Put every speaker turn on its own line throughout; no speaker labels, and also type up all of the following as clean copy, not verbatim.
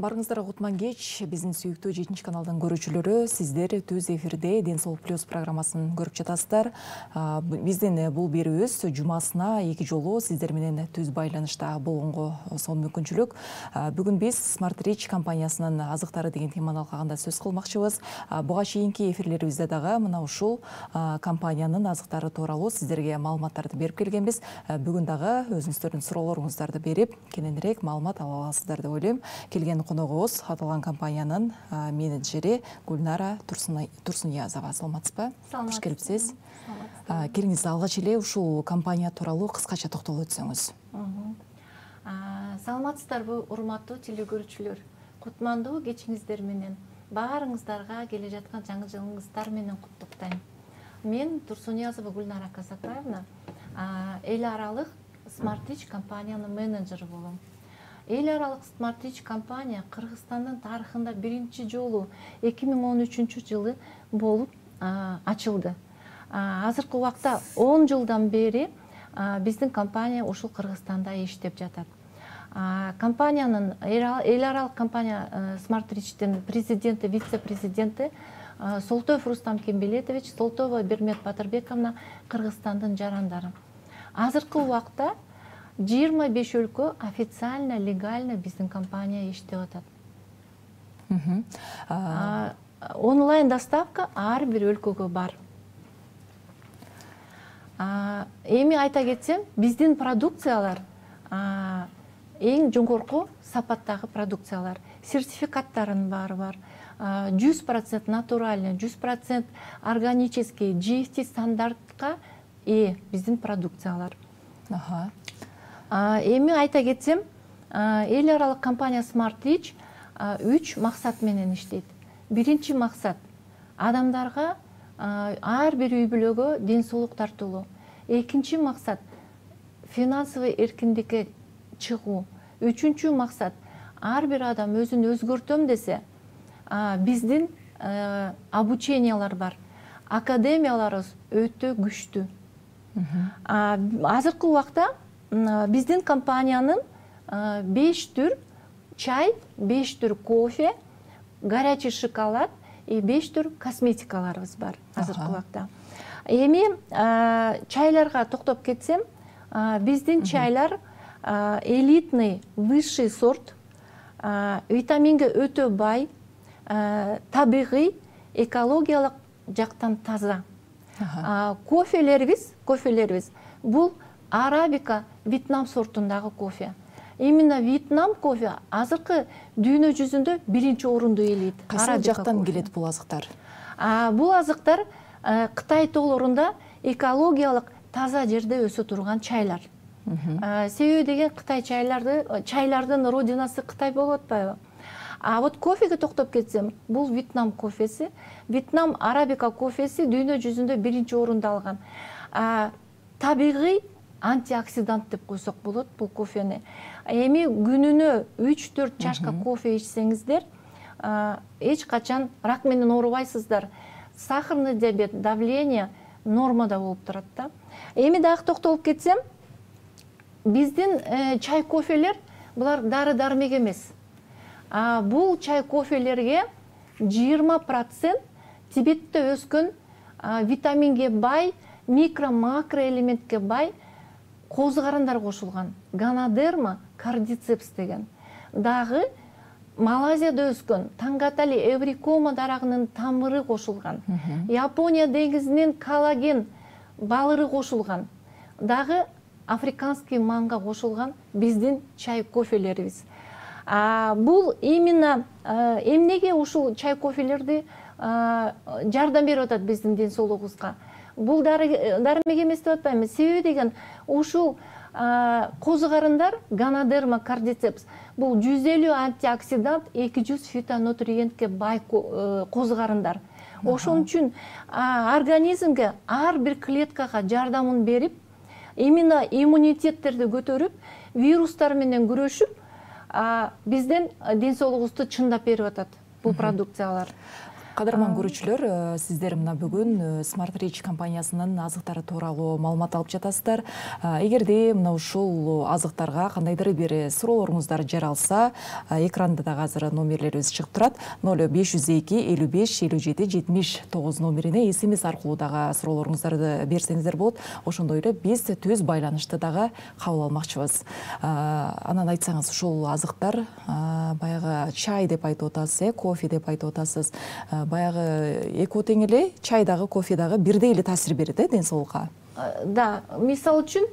Барыңыздарга кутман кеч. Биздин сүйүктүү 7 каналдын көрүүчүлөрү, сиздер түз эфирде Ден соолук плюс программасын көрүп жатасыздар. Биздин бул берүүбүз жумасына 2 жолу сиздер менен түз байланышта болгонго сонун мүмкүнчүлүк. Бүгүн биз Smart Rich компаниясынын азыктары деген теманы алкагында сөз кылмакчыбыз. Буга чейинки эфирлерибизде дагы мына ушул компаниянын азыктары тууралуу сиздерге маалыматтарды берип келгенбиз. Бүгүн дагы өзүңүздөрдүн суроолоруңуздарды берип, кененирээк маалымат ала аласыздар деп ойлойм. Келген коногубуз аталган компаниянын менеджери Гүлнара Турсуниязова. Саламатсызбы?
Кош
келипсиз. Келиңиз, алгач эле ушул компания тууралуу кыскача токтолуп өтсөңүз.
Саламатсыздарбы, урматтуу телекөрүүчүлөр. Кутмандуу кечиңиздер менен баарыңыздарга келе жаткан жаңы жылыңыздар менен куттуктайм. Мен Турсуниязова Гүлнара Казакаевна, эл аралык Smart Rich компаниянын менеджери болом. Эл аралык Smart Rich компания Кыргызстандын тарыхында биринчи жолу 2013 жылы болуп ачылды. Азыркы убакта 10 жылдан бери биздин компания ушул Кыргызстанда иштеп жатат. Компаниянын эл аралык компания Smart Rich'тин президенти, вице-президенти Солтоев Рустам Кембелетович, Солтоева Бермет Батырбековна Кыргызстандын жарандары. Азыркы убакта 25 өлкө официально, легально биздин компания иштеп атат. Онлайн доставка ар бир өлкөгө бар. Эми айта кетсем, биздин продукциялар эң жогорку сапаттагы продукциялар. Сертификаттарын баары бар. 100% натуральный, 100% органический, GST стандартка биздин продукциялар. Эми айта кетсем, эл аралык компания Smart Rich 3 максат менен иштейт. Биринчи максат адамдарга ар бир үй бүлөгө ден соолук тартуулоо. Экинчи максат финансовый эркиндикке чыгуу. Үчүнчү максат ар бир адам өзүн өзгөртөм десе, биздин обучениялар бар. Академияларыбыз өтө күчтүү. Азыркы убакта биздин компаниянын 5 түр чай, 5 түр кофе, горячий шоколад и 5 түр косметикаларыбыз бар азыркы убакта. Эми чайларга токтоп кетсем, биздин чайлар элитный, высший сорт, витаминге өтө бай, табигый, экологиялык жактан таза. Кофелерибиз бул арабика, Вьетнам сортундагы кофе. Именно Вьетнам кофе азыркы дүйнө жүзүндө биринчи орунду ээлейт.
Кайсы жактан келет бул азыктар?
Бул азыктар Кытай тоолорунда экологиялык таза жерде өсө турган чайлар. Себеби деген Кытай чайлардын родинасы Кытай болуп атпайбы? Вот кофеге токтоп кетсем, бул Вьетнам кофеси, Вьетнам арабика кофеси дүйнө жүзүндө биринчи орунду алган. Табигый антиоксидант деп койсок болот бул кофени. Эми күнүнө 3-4 чашка кофе ичсеңиздер, эч качан рак менен оорубайсыздар. Сахарный диабет, давление нормада болуп турат да. Эми дагы токтолуп кетсем, биздин чай кофелер булар дары-дармек эмес. Бул чай кофелерге 20% Тибетте өскөн витаминге бай, микро-макро элементке бай козгарындар кошулган. Ганадерма кардицепс деген. Дагы Малайзияда өскөн тангатали эврикома дарагынын тамыры кошулган. Япония деңизинин коллаген балыры кошулган. Дагы африканский манга кошулган биздин чай кофелерибиз. Бул именно эмнеге ушул чай кофелерди жардам берип атат биздин ден соолугубузга? Бул дармек эмес деп атпайбы? Себеби деген ушул козгарындар Ганадерма кардицепс бул 150 антиоксидант, 200 фитонутриентке бай козгарындар. Ошон үчүн организмге ар бир клеткага жардамын берип, именно иммунитеттерди көтөрүп, вирустар менен күрөшүп, биздин ден соолугубузду чындап берип атат бул продукциялар.
Кадырман көрүүчүлөр, сиздер мына бүгүн Smart Rich компаниясынын азыктары тууралуу маалымат алып жатасыздар. Эгерде мына ушул азыктарга кандайдыр бир суроолоруңуздар жаралса, экранда дагы азыр номерлерибиз чыгып турат. 0502 55 57 79 номерине SMS аркылуу дагы суроолоруңуздарды берсеңиздер болот. Ошондой эле биз түз байланышты дагы кабыл алмакчыбыз. Анан айтсаңыз, ушул азыктар баягы чай деп айтып атасыз, кофе деп айтып атасыз. Баягы экөө тең эле чай дагы, кофе дагы бирдей эле таасир берет, ден соолукка.
Да, мисалы үчүн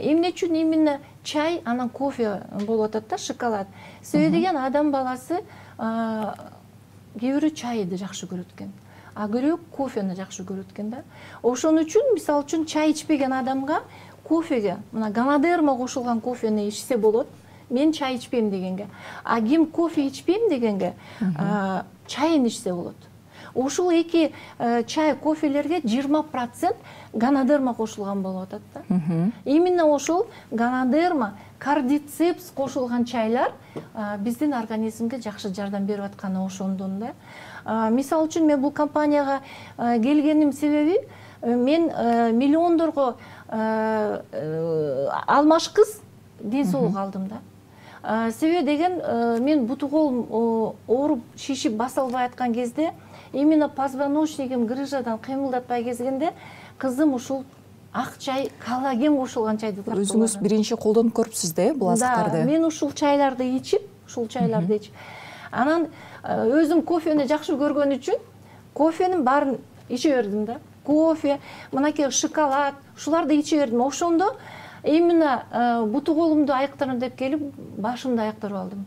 эмне үчүн именно чай, анан кофе болуп атат да, шоколад. Себеби деген адам баласы кээ бирөө чайды жакшы көрөт экен, а бирөө кофени жакшы көрөт экен да. Ошон үчүн мисалы үчүн чай ичпеген адамга кофеге, мына ганадерма кошулган кофени ичсе болот. Мен чай ичпейм дегенге. А ким кофе ичпейм дегенге чайын ичсе болот. Ушул эки чай, кофелерге 20% ганадерма кошулган болуп атат да. Именно ошол ганадерма, кардицепс кошулган чайлар биздин организмге жакшы жардам берип атканы ошондон да. Мисалы үчүн мен бул компанияга келгеним себеби, мен миллиондорго алмаш кыз ден соолук алдым да. Себеби деген мен буту колум ооруп, шишип баса албай аткан кезде, именно позвоночнигим грыжадан кыймылдатпай кезгенде, кызым ушул ак чай, коллаген кошулган чайды тартып.
Өзүңүз биринчи колдонуп көрүпсүз да, бул азыктарды?
Да, мен ушул чайларды ичип, Анан өзүм кофени жакшы көргөн үчүн кофенин баарын иче бердим да. Кофе, мынакей шоколад, ушуларды иче бердим. Ошондо именно буту колумду айыктырам деп келип, башымды айыктырып алдым.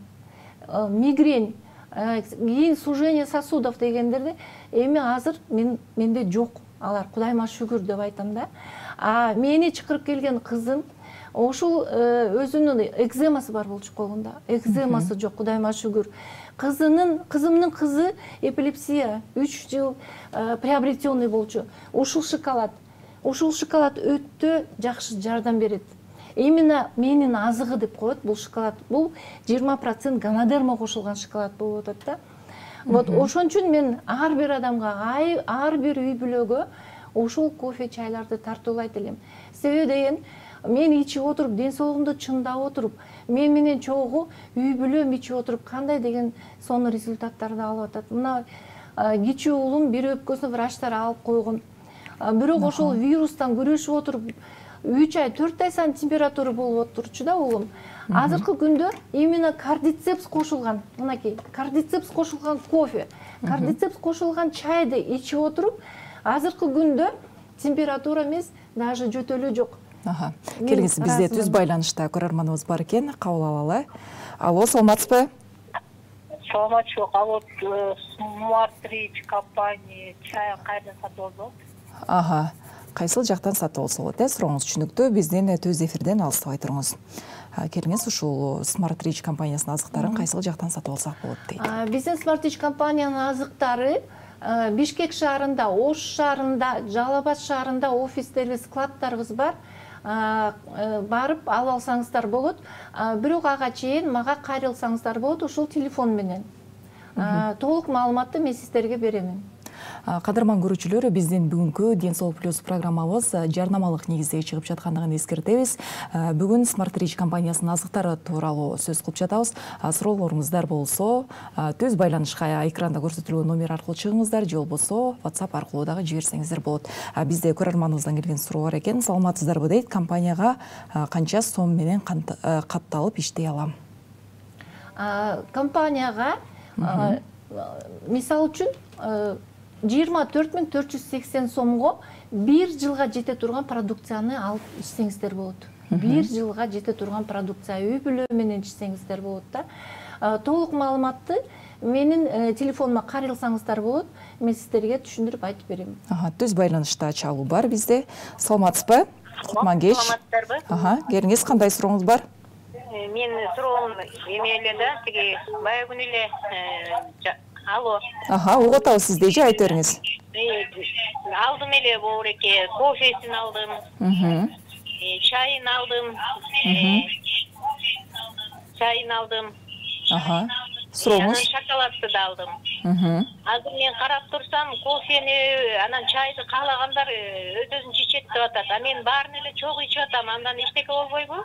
Мигрень, кийин сужение сосудов дегендерди эми азыр менде жок. Алар Кудайыма шүгүр деп айтам да. Мени чакырып келген кызым ошол өзүнүн экземасы бар болчу колунда. Экземасы жок, Кудайыма шүгүр. Кызымдын кызы эпилепсия 3 жыл приобретенный болчу. Ушул шоколад өтө жакшы жардам берет. Именно менин азыгы деп коет бул шоколад. Бул 20% ганадерма кошулган шоколад болуп атат да. Вот ошон үчүн мен ар бир адамга, ар бир үй бүлөгө ошол кофе, чайларды тартуулайт элем. Себеби деген мен ичип отуруп, ден соолугумду чындап отуруп, мен менен чогуу үй бүлөм ичип отуруп, кандай деген сонун результаттарды алып атат. Мына кичүү уулум бир өпкөсүн врачтар алып койгон. Бирок ошол вирустан күрөшүп отуруп 3 ай, 4 ай сайын температура болуп отурчу да уулум. Азыркы күндө именно кардицепс кошулган, мынакей, кардицепс кошулган кофе, кардицепс кошулган чайды ичип отуруп, азыркы күндө температура эмес, даже жөтөлүү жок.
Келиңиз, бизде түз байланышта көрөрманыбыз бар экен, кабыл алалы. Алло, саламатсызбы?
Саламатчылык, алло, Smart Rich компания чай кайдан сатып алды?
Кайсыл жактан сатып алса болот, сурооңуз түшүнүктүү. Биздин түз эфирден алыстабай туруңуз. Келиңиз, ушул Smart Rich компаниясынын азыктарын кайсыл жактан сатып алсак болот дейт.
Биздин Smart Rich компаниянын азыктары Бишкек шаарында, Ош шаарында, Жалал Абад шаарында офистерибиз, складдарыбыз бар. Барып алып алсаңыздар болот. Бирок ага чейин мага кайрылсаңыздар болот ушул телефон менен. Толук маалыматты мен сиздерге беремин.
Кадырман көрүүчүлөр, биздин бүгүнкү Ден соолук плюс программабыз жарнамалык негизде чыгып жаткандыгын эскертебиз. Бүгүн Smart Rich компаниясынын азыктары тууралуу сөз кылып жатабыз. Суроолоруңуздар болсо, түз байланышка экранда көрсөтүлгөн номер аркылуу чыгыңыздар, же болбосо WhatsApp аркылуу дагы жиберсеңиздер болот. Бизде көрөрманыбыздан келген суроо бар экен. Саламатсыздарбы дейт, компанияга канча сом менен катталып иштей алам?
Компанияга мисалы үчүн 24.480 сомго 1 жылга жете турган продукцияны алып ичсеңиздер болот. 1 жылга жете турган продукция үй бүлө менен ичсеңиздер болот да. Толук маалыматты менин телефонума кайрылсаңыздар болот. Мен сиздерге түшүндүрүп айтып берем.
Түз байланышта чалуу бар бизде. Саламатсызбы? Кутман кеч.
Саламатсыздарбы?
Келиңиз, кандай сурооңуз бар?
Мен суроом эме эле да, тиги бая күнү эле алло.
Угуп атабыз сизди, же айтып бериңиз.
Алдым эле боореке, кофесин алдым. Чайын алдым.
Сурооңуз?
Шоколадты да алдым. Азыр мен карап турсам, кофени, анан чайды каалагандар өз-өзүн ичет деп атат. А мен баарын эле чогуу ичип атам. Андан эчтеке болбойбу?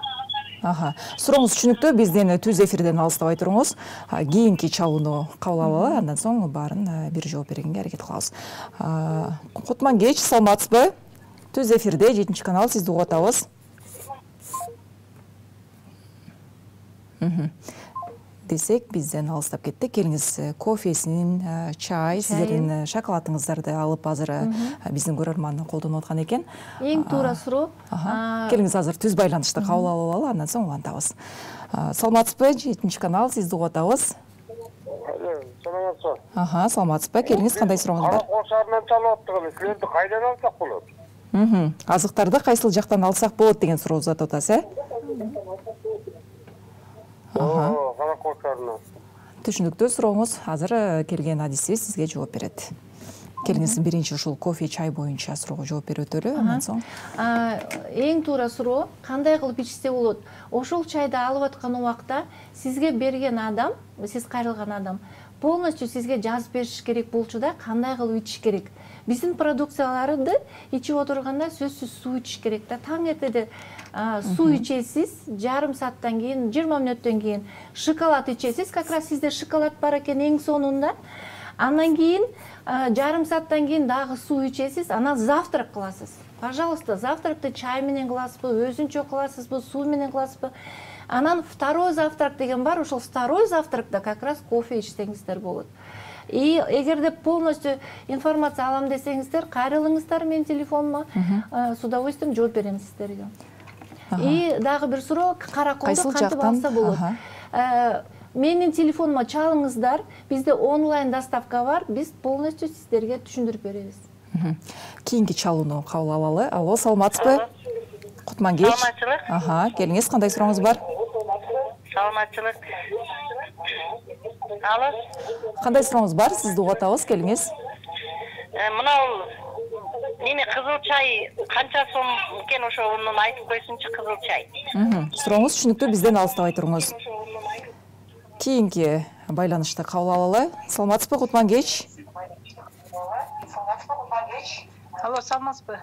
Сурооңуз түшүнүктүү. Бизден түз эфирден алыстабай туруңуз. Кийинки чалууну кабыл алалы, андан соң баарын бир жооп бергенге аракет кылабыз. Кутман кеч, саламатсызбы? Түз эфирде 7 канал, сизди угуп атабыз. Десек, бизден алыстап кетти. Келиңиз, кофесин, чай, сиздердин шоколадыңыздарды алып азыр биздин көрөрман колдонуп аткан экен.
Эң туура суроо.
Келиңиз, азыр түз байланышты кабыл алалы, андан соң улантабыз. Саламатсызбы? 7 канал, сизди угуп атабыз.
Саламатсызбы.
Саламатсызбы? Келиңиз, кандай сурооңуз бар?
Кара Кошарынан чалып аттыгы, силерди кайдан алсак болот?
Азыктарды кайсыл жактан алсак болот деген суроо uzatып атасыз,
Кара Кошарынан.
Түшүнүктүү сурооңуз. Азыр келген адисибиз сизге жооп берет. Келиңиз, биринчи ушул кофе, чай боюнча суроого жооп берип өтөлү, андан соң.
Эң туура суроо, кандай кылып ичсе болот? Ошол чайды алып аткан убакта сизге берген адам, сиз кайрылган адам полностью сизге жазып бериш керек болчу да, кандай кылып ичиш керек. Биздин продукцияларды ичип отурганда сөзсүз суу ичиш керек да. Таң эртеде суу ичесиз, жарым сааттан кийин, 20 мүнөттөн кийин шоколад ичесиз, как раз сизде шоколад бар экен эң сонунда. Андан кийин жарым сааттан кийин дагы суу ичесиз, анан завтрак кыласыз. Пожалуйста, завтракты чай менен кыласызбы, өзүнчө кыласызбы, суу менен кыласызбы? Анан второй завтрак деген бар, ошол второй завтракта как раз кофе ичсеңиздер болот. И эгерде полностью информация алам десеңиздер, кайрылыңыздар менин телефонума, с удовольствием жооп берем сиздерге. И дагы бир суроо, кара колду кантип алса болот? Менин телефонума чалыңыздар, бизде онлайн доставка бар, биз полностью сиздерге түшүндүрүп беребиз.
Кийинки чалууну кабыл алалы. Алло, саламатсызбы? Кутман кеч.
Саламатчылык.
Келиңиз, кандай сурооңуз бар?
Саламатчылык. Алло.
Кандай сурооңуз бар? Сизди угуп атабыз, келиңиз.
Мынау неме кызыл чай канча сом экен, ошону айтып койсунчу, кызыл чай.
Сурооңуз түшүнүктүү, бизден алыстабай туруңуз. Кийинки байланышты кабыл алалы. Саламатсызбы, Кутман кеч?
Алло, саламатсызбы?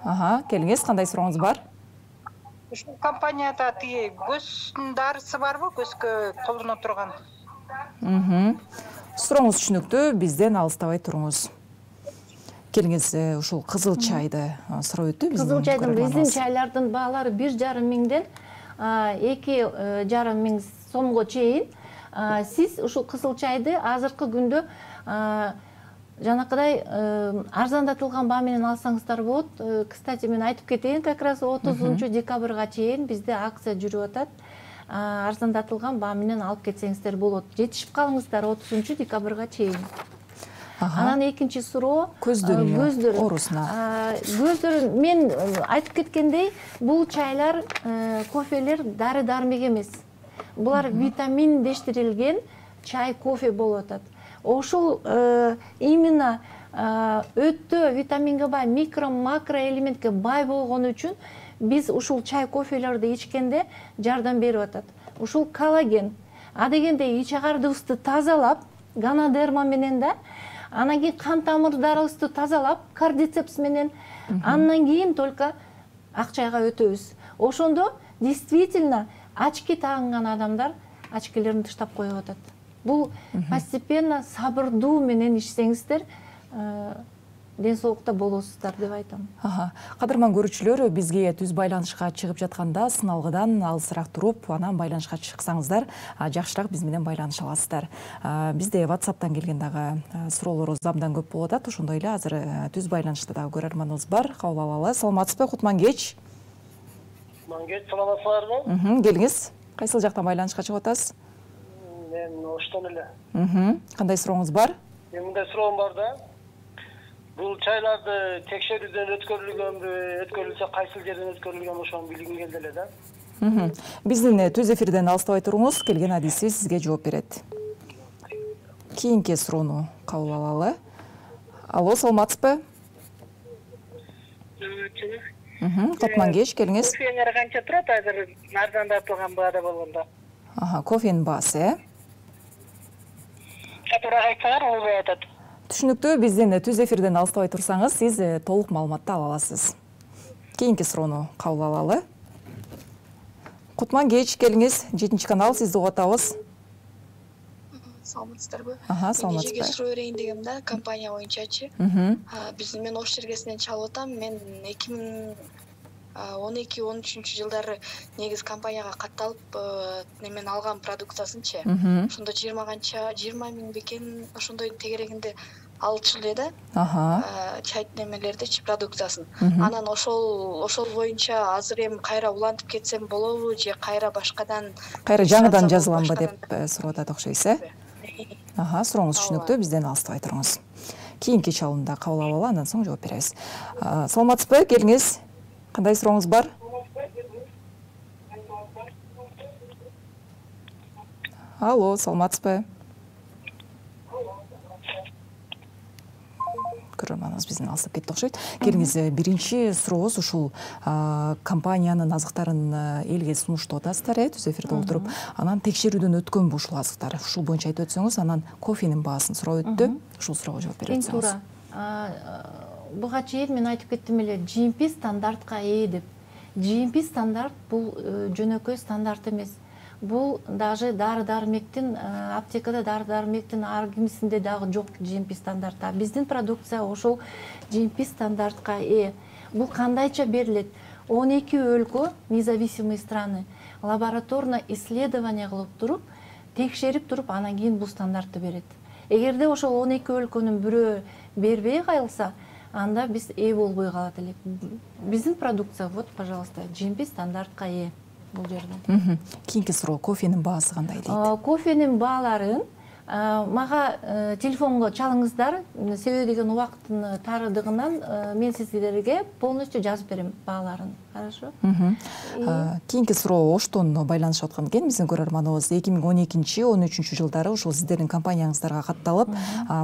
Келиңиз, кандай сурооңуз бар?
Ушул компанияда тиги көздүн дарысы барбы, көзгө колдоно турган?
Сурооңуз түшүнүктүү, бизден алыстабай туруңуз. Келиңиз, ушул кызыл чайды сурап өттү.
Кызыл чайдын биздин чайлардын баалары 1,5 миңден 2,5 миң сомго чейин. Сиз ушул кызыл чайды азыркы күндө жанакыдай арзандатылган баа менен алсаңыздар болот. Кстати, мен айтып кетейин, как раз 30 декабрга чейин бизде акция жүрүп атат. Арзандатылган баа менен алып кетсеңиздер болот. Жетишип калыңыздар 30 декабрга чейин. Анан экинчи суроо, көздөр
оорусуна.
Көздөр, мен айтып кеткендей, бул чайлар, кофелер дары-дармек эмес. Булар витаминдештирилген чай, кофе болуп атат. Ошол именно өтө витаминге бай, микро-макро элементке бай болгону үчүн биз ушул чай, кофелерди ичкенде жардам берип атат. Ушул коллаген, адегенде ич агардыбызды тазалап, ганодерма менен да, анан кийин кан тамырдарыбызды тазалап, кардицепс менен, андан кийин только ак чайга өтөбүз. Ошондо действительно очки тагынган адамдар очкилерин тыштап коюп атат. Бул постепенно сабырдуу менен ичсеңиздер, ден соолукта болосуздар деп айтам.
Кадырман көрүүчүлөр, бизге түз байланышка чыгып жатканда сыналгыдан алысыраак туруп, анан байланышка чыксаңыздар, жакшыраак биз менен байланыша аласыздар. Бизде WhatsApp'тан келген дагы суроолорубуз абдан көп болуп атат. Ошондой эле азыр түз байланышта дагы көрөрманыбыз бар. Кабыл алалы. Саламатсызбы, Кутман кеч?
Кутман кеч, саламатсыздарбы?
Келиңиз. Кайсыл жактан байланышка чыгып атасыз?
Мен Оштон эле.
Кандай сурооңуз бар?
Мындай суроом бар да. Бул чайларды текшерүүдөн өткөрүлгөнбү, өткөрүлсө кайсыл жерден өткөрүлгөн, ошону билгим келди эле да.
Биздин түз эфирден алыстабай туруңуз, келген адисибиз сизге жооп берет. Кийинки суроону кабыл алалы. Алло, саламатсызбы? Кутман кеч, келиңиз.
Кофеңер канча турат азыр арзандатылган баада болгондо?
Кофенин баасы,
Катуураак айтсаңар, болбой атат.
Түшүнүктүү. Бизден түз эфирден алыстабай турсаңыз, сиз толук маалыматты ала аласыз. Кийинки суроону кабыл алалы. Кутман кеч, келиңиз. 7 канал, сизди угуп атабыз.
Саламатсыздарбы?
Саламатсызбы.
Жеке суроо берейин дегем да, компания боюнчачы. Мен Ош Шергесинен чалып атам. Мен 2012-13 жылдары негиз компанияга катталып, немен алган продукциясынчы. Ошондо 20 миң бекен ошондой тегерегинде алчу эле да. Чай немелердичи продукциясын. Анан ошол боюнча азыр эми кайра улантып кетсем болобу же кайра башкадан
жаңыдан жазыламбы деп сурап атат окшойсуз, э? Сурооңуз түшүнүктүү. Бизден алыстабай туруңуз. Кийинки чалымда кабыл алалы, андан соң жооп беребиз. Саламатсызбы? Келиңиз. Кандай сурооңуз бар? Алло, саламатсызбы? Көрөрманыбыз бизден алысып кетти окшойт. Келиңиз, биринчи сурообуз ушул компаниянын азыктарын элге сунуштап атасыздар, түз эфирде отуруп. Анан текшерүүдөн өткөнбү ушул азыктар? Ушул боюнча айтып өтсөңүз, анан кофенин баасын сурап өттү. Ушул суроого жооп бере өтсөңүз.
Туура. Буга чейин мен айтып кеттим эле, GMP стандартка ээ деп. GMP стандарт бул жөнөкөй стандарт эмес. Бул даже дары-дармектин, аптекада дары-дармектин ар кимисинде дагы жок GMP стандарт. Биздин продукция ошол GMP стандартка ээ. Бул кандайча берилет? 12 өлкө, независимые страны, лабораторно исследование кылып туруп, текшерип туруп, анан кийин бул стандартты берет. Эгерде ошол 12 өлкөнүн бирөө бербей калса, анда биз ээ болбой калат элек. Биздин продукция, вот, пожалуйста, GMP стандартка ээ.
Кийинки суроо, кофенин баасы кандай дейт?
Кофенин бааларын мага телефонго чалыңыздар, себеби деген убакыттын тарыдыгынан мен сиздерге полностью жазып берем бааларын. Хорошо?
Кийинки суроо Оштон байланышып аткан экен. Биздин көрөрманыбыз 2012-13 жылдары ушул сиздердин компанияңыздарга катталып,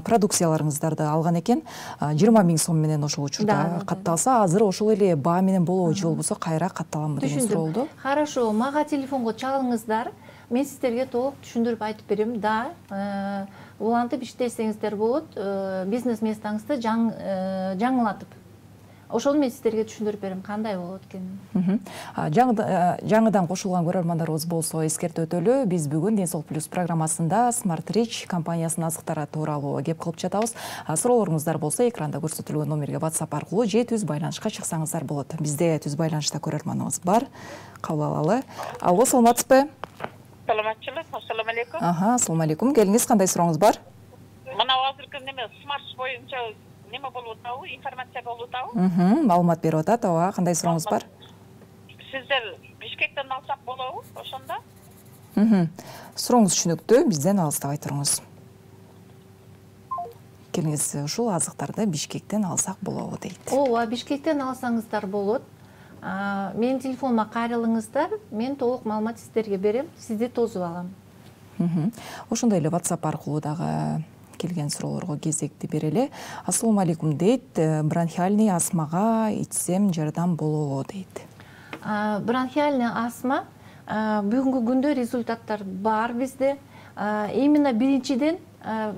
продукцияларыңыздарды алган экен. 20 миң сом менен ошол учурда катталса, азыр ошол эле баа менен болобу же болбосо кайра катталамбы деген суроо болду.
Хорошо, мага телефонго чалыңыздар. Мен сиздерге толук түшүндүрүп айтып берем. Да, улантып иштесеңиздер болот, бизнес местаңызды жаңылатып. Ошону мен сиздерге түшүндүрүп берем, кандай болот экенин.
Жаңыдан кошулган көрөрмандарыбыз болсо эскертип өтөлү. Биз бүгүн Ден Соолук Плюс программасында Smart Rich компаниясынын азыктары тууралуу кеп кылып жатабыз. Суроолоруңуздар болсо экранда көрсөтүлгөн номерге WhatsApp аркылуу же түз байланышка чыксаңыздар болот. Бизде түз байланышта көрөрманыбыз бар. Кабыл алалы. Алло, саламатсызбы?
Саламатчылык, ассаламу алейкум.
Ассаламу алейкум. Келиңиз, кандай сурооңуз бар?
Мына азыркы неме смарт боюнча неме болуп атабы, информация болуп атабы?
Маалымат берип атат, ооба. Кандай сурооңуз бар?
Сиздер Бишкектен алсак болобу ошондо?
Сурооңуз түшүнүктүү, бизден алыстабай туруңуз. Келиңиз, ушул азыктарды Бишкектен алсак болобу дейт.
Ооба, Бишкектен алсаңыздар болот. Менин телефонума кайрылыңыздар, мен толук маалымат сиздерге берем, сизди тосуп алам.
Ошондой эле WhatsApp аркылуу дагы келген суроолорго кезекти берели. Ассаламу алейкум дейт. Бронхиальный астмага ичсем жардам болобу дейт.
Бронхиальный астма бүгүнкү күндө результаттар бар бизде. Именно биринчиден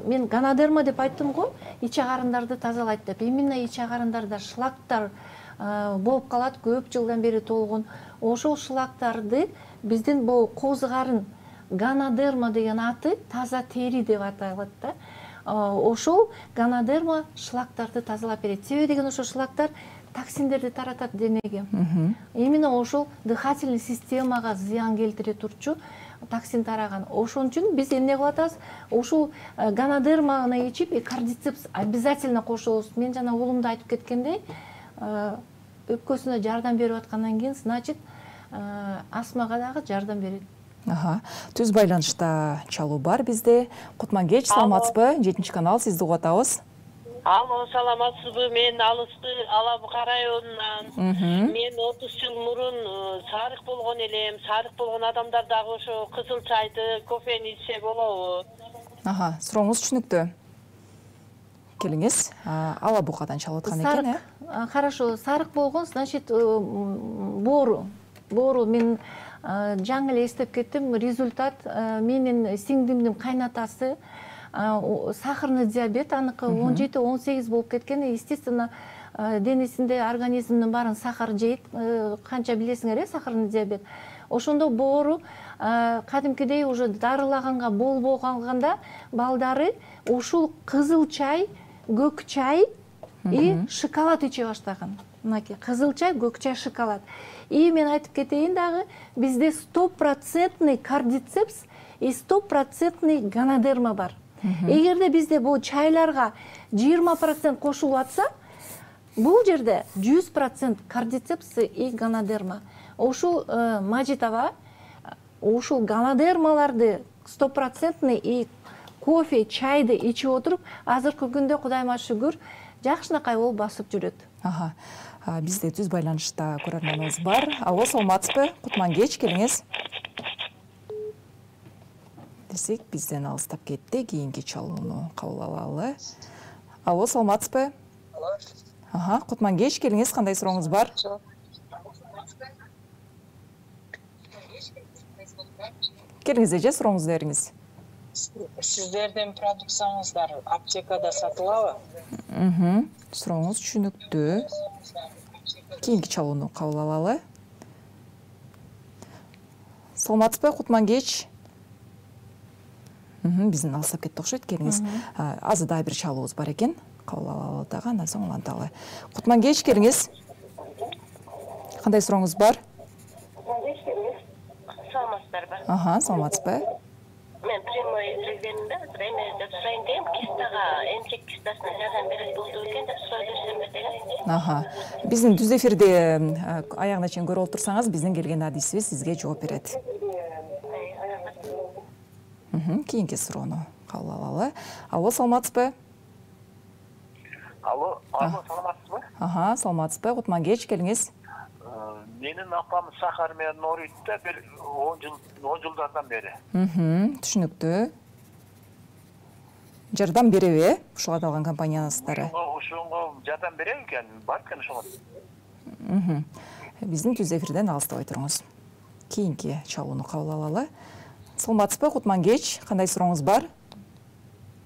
мен ганодерма деп айттым го, ич агарындарды тазалайт деп. Именно ич агарындарда шлактар болуп калат, көп жылдан бери толгон. Ошол шлактарды биздин бул козгарын ганодерма деген аты таза тери деп аталат да. Ошол ганодерма шлактарды тазалап берет. Себеби деген ошол шлактар токсиндерди таратат денеге. Именно ошол дыхательный системага зыян келтире турчу токсин тараган. Ошон үчүн биз эмне кылып атабыз? Ошол ганодерманы ичип, кардицепс обязательно кошобуз. Мен жана уулумду айтып кеткендей, өпкөсүнө жардам берип аткандан кийин, значит, астмага дагы жардам берет.
Түз байланышта чалуу бар бизде. Кутман кеч, саламатсызбы? 7 канал, сизди угуп атабыз.
Алло, саламатсызбы? Мен Алысты Алабы районунан. Мен 30 жыл мурун сарык болгон элем. Сарык болгон адамдар дагы ошо кызыл чайды, кофени ичсе болобу?
Сурооңуз түшүнүктүү. Келиңиз, Алабукадан чалып аткан экен, э?
Хорошо, сарык болгон, значит, боору. Мен жаңы эле эстеп кеттим. Результат менин сиңдимдин кайнатасы сахарный диабет аныкы 17-18 болуп кеткен. Естественно, денесинде организмдин баарын сахар жейт. Канча билесиңер, сахарный диабет. Ошондо боору кадимкидей уже дарылаганга болбой калганда балдары ушул кызыл чай, көк чай и шоколад иче баштаган. Мынакей кызыл чай, көк чай, шоколад. И мен айтып кетейин дагы, бизде 100% кардицепс и 100% ганодерма бар. Эгерде бизде бул чайларга 20% кошулуп атса, бул жерде 100% кардицепс и ганодерма. Ушул Мажит аба ушул ганодермаларды 100% и кофе, чайды ичип отуруп, азыркы күндө Кудайыма шүгүр жакшынакай болуп басып жүрөт.
Бизде түз байланышта көрөрманыбыз бар. Алло, саламатсызбы? Кутман кеч, келиңиз. Десек, бизден алыстап кетти, кийинки чалууну кабыл алалы. Алло, саламатсызбы? Кутман кеч, келиңиз, кандай сурооңуз бар? Келиңиз эже, сурооңузду бериңиз.
Сиздердин продукцияңыздар аптекада сатылабы?
Сурооңуз түшүнүктүү. Кийинки чалууну кабыл алалы. Саламатсызбы, Кутман кеч. Бизден алыстап кетти окшойт, келиңиз. Азыр дагы бир чалуубуз бар экен. Кабыл алалы дагы, андан соң уланталы. Кутман кеч, келиңиз. Кандай сурооңуз бар?
Саламатсыздарбы?
Саламатсызбы?
Мен прямой эфирдемде эме деп сурайын дегем, кистага, эмчек кистасына жардам берет болду экен деп сурай берсемби деген.
Биздин түз эфирде аягына чейин көрүп отурсаңыз, биздин келген адисибиз сизге жооп берет. Кийинки суроону кабыл алалы. Алло, саламатсызбы?
Алло, саламатсызбы?
Саламатсызбы, Кутман кеч, келиңиз.
Менин апам сахар менен ооруйт да, бир 10 жылдардан бери.
Түшүнүктүү. Жардам береби, ушуга аталган компанияныздары?
Ошого жардам береби экен, бар экен ошого.
Биздин түз эфирден алыстабай туруңуз. Кийинки чалууну кабыл алалы. Саламатсызбы, Кутман кеч, кандай сурооңуз бар?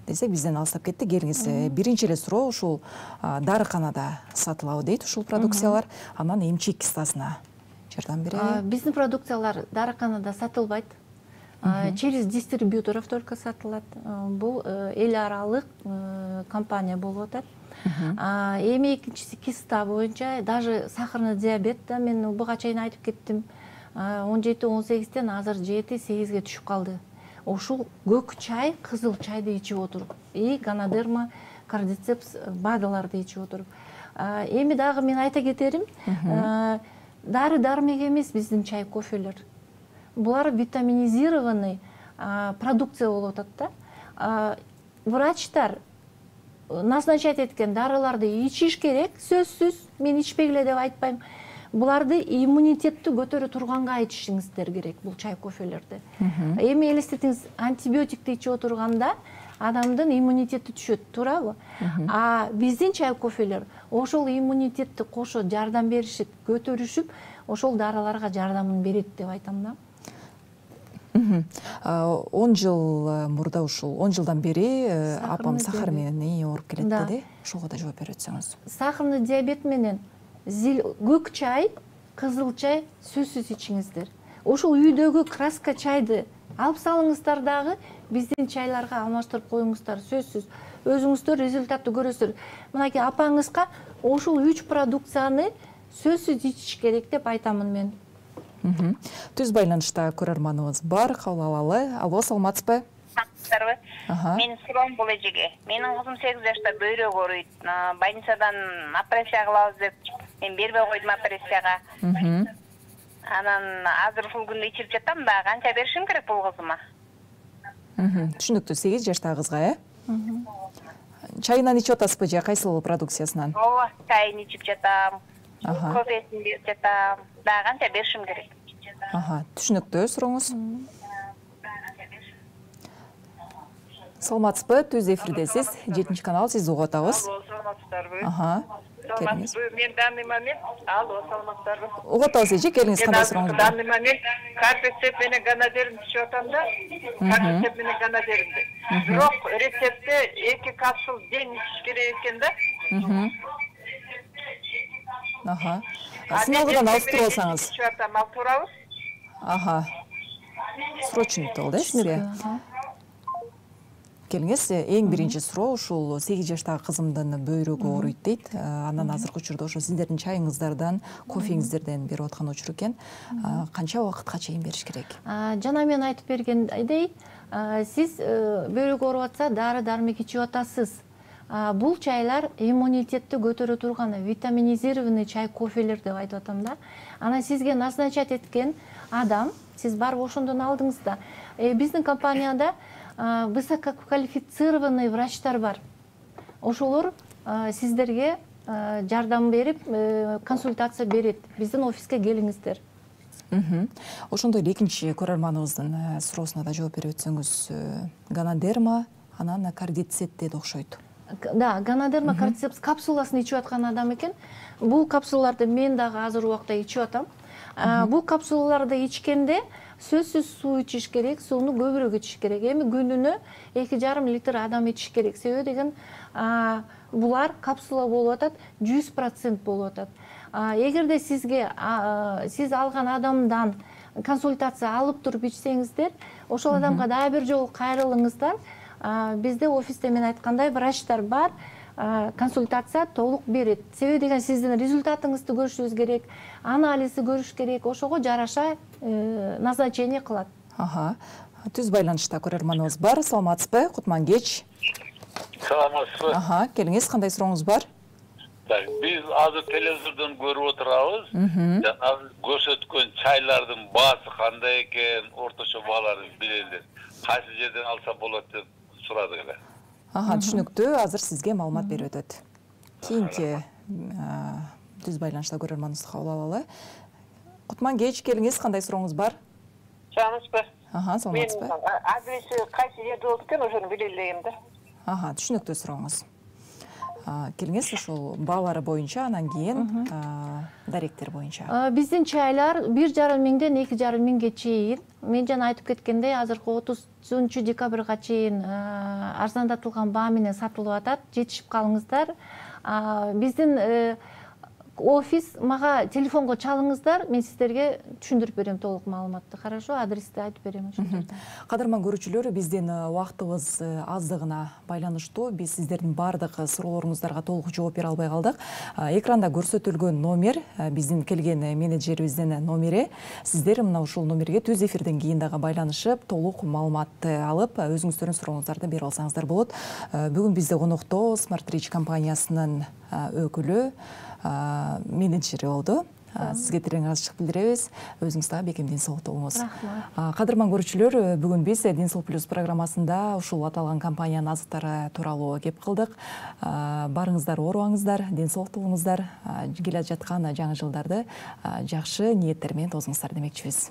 Десек, бизден алыстап кетти. Келиңиз, биринчи эле суроо ушул дарыканада сатылабы дейт ушул продукциялар, анан эмчек кистасына жардам береби?
Биздин продукциялар дарыканада сатылбайт. Через дистрибьюторов только сатылат. Бул эл аралык компания болуп атат. Эми экинчиси киста боюнча, даже сахарный диабет да мен буга чейин айтып кеттим. 17-18ден азыр 7-8ге түшүп калды. Ушул көк чай, кызыл чайды ичип отуруп, и ганодерма, кардицепс БАДаларды ичип отуруп. Эми дагы мен айта кетерим, дары-дармек эмес биздин чай, кофелер. Булар витаминизированный продукция болуп атат да. Врачтар назначать эткен дарыларды ичиш керек, сөзсүз, мен ичпегиле деп айтпайм. Буларды иммунитетти көтөрө турганга ичишиңиздер керек, бул чай, кофелерди. Эми элестетиңиз, антибиотикти ичип отурганда адамдын иммунитети түшөт, туурабы? Биздин чай, кофелер ошол иммунитетти кошо жардам беришип, көтөрүшүп, ошол дарыларга жардамын берет деп айтам да.
10 жыл мурда ушул 10 жылдан бери апам сахар менен ооруп келет деди. Ошого да жооп берип өтсөңүз.
Сахарный диабет менен көк чай, кызыл чай сөзсүз ичиңиздер. Ошол үйдөгү краска чайды алып салыңыздар дагы, биздин чайларга алмаштырып коюңуздар, сөзсүз. Өзүңүздөр результатты көрөсүздөр. Мынакей апаңызга ошол 3 продукцияны сөзсүз ичиш керек деп айтамын мен.
Түз байланышта көрөрманыбыз бар, кабыл алалы. Алло, саламатсызбы?
Мен суроом бул эжеге. Менин кызым 8 жашта бөйрөк ооруйт. Больницадан операция кылабыз деп мен бербей койдум операцияга. Анан азыр ушул күндө ичип жатам да, канча беришим керек бул кызыма?
Түшүнүктүү, 8 жаштагы кызга, Чайынан ичип атасызбы же кайсыл продукциясынан?
Ооба, чайын ичип жатам. Кофесин берип жатам. Да, канча беришим керек?
Түшүнүктүү сурооңуз. Саламатсызбы, түз эфирдесиз. 7 канал, сизди угуп атабыз.
саламатсыздарбы?
Келиңиз.
Мен данный момент, алло, саламатсыздарбы?
Угуп атабыз эже, келиңиз, кандай сурооңуз бар?
Данный момент кардицеп менен гонодерин түшүп атам да. Кардицеп менен гонодеринди. Бирок рецептте 2 капсул ден ичиш керек экен да.
Сыналгыдан алыштырып алсаңыз.
Түшүп атам, ал туурабы?
Срочный болду, сизге. Келиңиз, эң биринчи суроо ушул 8 жаштагы кызымдын бөйрөгү ооруйт дейт. Андан азыркы учурда ошо сиздердин чайыңыздардан, кофеңиздерден берип аткан учур экен. Канча убакытка чейин бериш керек?
Жана мен айтып бергендей, сиз бөйрөгү ооруп атса, дары-дармек ичип атасыз. Бул чайлар иммунитетти көтөрө турган витаминизированный чай, кофелер деп айтып атам да. Анан сизге назначать эткен адам, сиз барып ошондон алдыңыз да. Биздин компанияда высококвалифицированный врачтар бар. Ошолор сиздерге жардам берип, консультация берет. Биздин офиске келиңиздер.
Ошондой эле экинчи көрөрманыбыздын суроосуна да жооп берип өтсөңүз, гонодерма, анан кардицеп деди окшойт.
Да, гонодерма кардицепс капсуласын ичип аткан адам экен. Бул капсулаларды мен дагы азыр убакта ичип атам. Бул капсулаларды ичкенде сөзсүз суу ичиш керек, сууну көбүрөөк ичиш керек. Эми күнүнө 2,5 литр адам ичиш керек. Себеби деген булар капсула болуп атат, 100% болуп атат. Эгерде сизге сиз алган адамдан консультация алып туруп ичсеңиздер, ошол адамга дагы бир жолу кайрылыңыздар. Бизде офисте мен айткандай врачтар бар, консультация толук берет. Себеби деген сиздин результатыңызды көрүшүбүз керек, анализди көрүш керек, ошого жараша назначение кылат.
Түз байланышта көрөрманыбыз бар. Саламатсызбы? Кутман кеч.
Саламатсызбы?
Келиңиз, кандай сурооңуз бар?
Биз азыр телевизордон көрүп отурабыз. Жанагы көрсөткөн чайлардын баасы кандай экен, орточо бааларын билели. Кайсы жерден алса болот деп сурадык эле.
Түшүнүктүү. Азыр сизге маалымат берип өтөт. Кийинки түз байланышта көрөрманыбызды кабыл алалы. Кутман кеч, келиңиз, кандай сурооңуз бар?
Саламатсызбы?
Саламатсызбы?
Адреси кайсы жерде болот экен, ошону биле элегем да.
Түшүнүктүү сурооңуз. Келиңиз, ушул баалары боюнча, анан кийин даректер боюнча.
Биздин чайлар 1,5 миңден 2,5 миңге чейин. Мен жана айтып кеткендей, азыркы 30 декабрга чейин арзандатылган баа менен сатылып атат. Жетишип калыңыздар. Биздин офис мага телефонго чалыңыздар, мен сиздерге түшүндүрүп берем толук маалыматты. Хорошо, адрести айтып берем ошол жерде.
Кадырман көрүүчүлөр, биздин убактыбыз аздыгына байланыштуу. Биз сиздердин баардык суроолоруңуздарга толук жооп бере албай калдык. Экранда көрсөтүлгөн номер биздин келген менеджерибиздин номери. Сиздер мына ушул номерге түз эфирден кийин дагы байланышып, толук маалыматты алып, өзүңүздөрдүн сурооңуздарды берип алсаңыздар болот. Бүгүн бизде конокто Smart Rich компаниясынын өкүлү, менеджери болду. Сизге терең ыраазычылык билдиребиз. Өзүңүз дагы бекем ден соолукта болуңуз. Кадырман көрүүчүлөр, бүгүн биз Ден соолук плюс программасында ушул аталган компаниянын азыктары тууралуу кеп кылдык. Барыңыздар, оорубаңыздар, ден соолукта болуңуздар. Келе жаткан жаңы жылдарды жакшы ниеттер менен тосуңуздар демекчибиз.